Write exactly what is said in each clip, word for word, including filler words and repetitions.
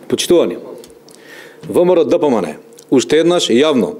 Почитувани, ВМРО-ДПМН уште еднаш јавно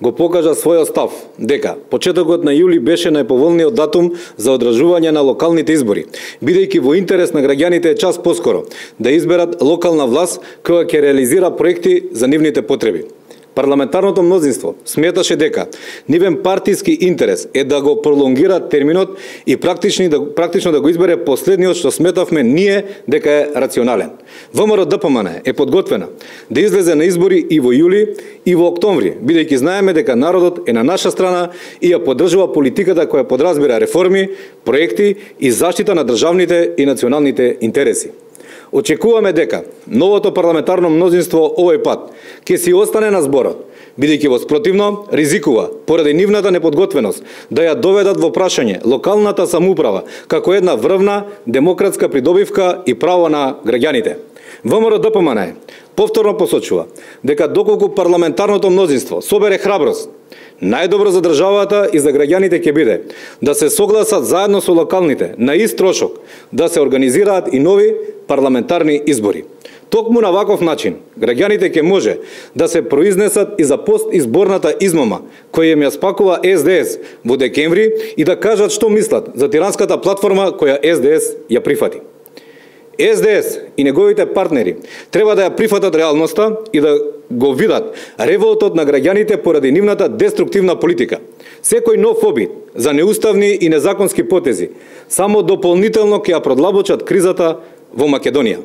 го покажа својот став дека почетокот на јули беше најповолниот датум за одржување на локалните избори, бидејќи во интерес на граѓаните е час поскоро да изберат локална власт која ќе реализира проекти за нивните потреби. Парламентарното мнозинство сметаше дека нивен партиски интерес е да го пролонгира терминот и практично да, практично да го избере последниот што сметавме ние дека е рационален. ВМРО-ДПМН е подготвена да излезе на избори и во јули и во октомври, бидејќи знаеме дека народот е на наша страна и ја поддржува политиката која подразбира реформи, проекти и заштита на државните и националните интереси. Очекуваме дека новото парламентарно мнозинство овој пат ќе си остане на зборот, бидејќи во спротивно ризикува, поради нивната неподготвеност, да ја доведат во прашање локалната самоуправа како една врвна демократска придобивка и право на граѓаните. ВМРО-ДПМН повторно посочува дека доколку парламентарното мнозинство собере храброст, најдобро за државата и за граѓаните ќе биде да се согласат заедно со локалните на ист трошок да се организираат и нови парламентарни избори. Токму на ваков начин граѓаните ќе може да се произнесат и за постизборната измама која им ја спакува Ес Де Ес во декември и да кажат што мислат за тиранската платформа која Ес Де Ес ја прифати. Ес Де Ес и неговите партнери треба да ја прифатат реалноста и да го видат револтот на граѓаните поради нивната деструктивна политика. Секој нов обид за неуставни и незаконски потези само дополнително ќе ја продлабочат кризата во Македонија.